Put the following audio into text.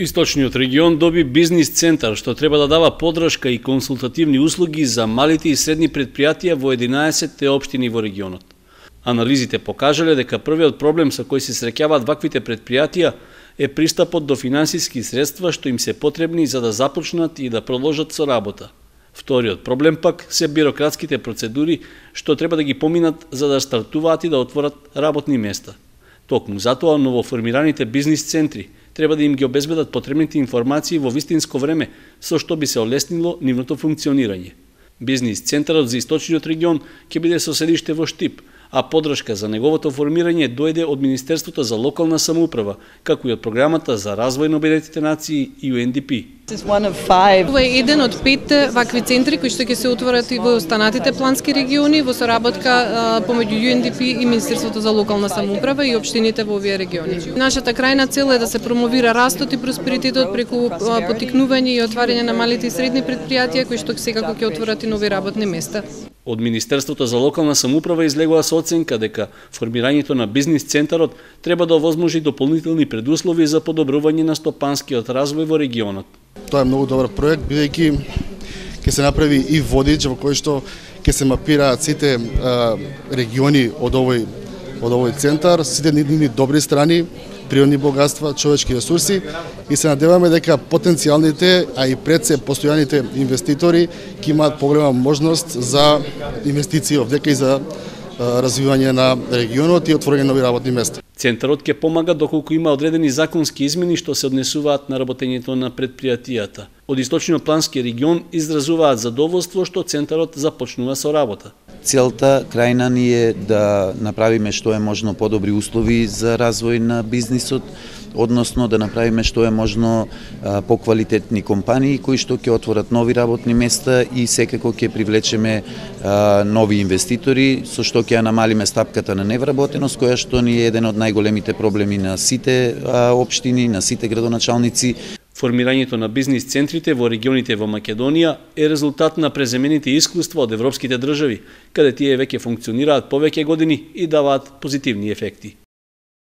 Источниот регион доби бизнис центар што треба да дава поддршка и консултативни услуги за малите и средни предпријатија во 11 општини во регионот. Анализите покажале дека првиот проблем со кој се среќаваат ваквите предпријатија е пристапот до финансиски средства што им се потребни за да започнат и да продолжат со работа. Вториот проблем пак се бирократските процедури што треба да ги поминат за да стартуваат и да отворат работни места. Токму затоа новоформираните бизнис центри треба да им ги обезбедат потребните информации во вистинско време, со што би се олеснило нивното функционирање. Бизнис центарот за Источниот регион ќе биде со седиште во Штип, а поддршка за неговото формирање дојде од Министерството за локална самоуправа, како и од Програмата за развој на Обединетите нации и UNDP. Ова е еден од 5 вакви центри кои што ќе се отворат и во останатите плански региони во соработка помеѓу UNDP и Министерството за локална самоуправа и општините во овие региони. Нашата крајна цел е да се промовира растот и просперитетот преку поттикнување и отварање на малите и средни предпријатија кои што секако ќе отворат и нови работни места. Од Министерството за локална самоуправа излегува со оценка дека формирањето на бизнис центарот треба да овозможи дополнителни предуслови за подобрување на стопанскиот развој во регионот. Тоа е многу добар проект, бидејќи ќе се направи и водич во кој што ќе се мапираат сите региони од овој центар, сите нивни добри страни, природни богатства, човечки ресурси и се надеваме дека потенцијалните, а и пред се постојаните инвеститори ќе имаат поголема можност за инвестиции овдека и за развивање на регионот и отворање нови работни места. Центарот ќе помага доколку има одредени законски измени што се однесуваат на работењето на предпријатијата. Од Источноплански регион изразуваат задоволство што центарот започнува со работа. Целта крајна ни е да направиме што е можно подобри услови за развој на бизнисот, односно да направиме што е можно поквалитетни компании кои што ќе отворат нови работни места и секако ќе привлечеме нови инвеститори, со што ќе намалиме стапката на невработеност, која што ни е еден од најголемите проблеми на сите општини, на сите градоначалници. Формирањето на бизнис центрите во регионите во Македонија е резултат на преземените искуства од европските држави, каде тие веќе функционираат повеќе години и даваат позитивни ефекти.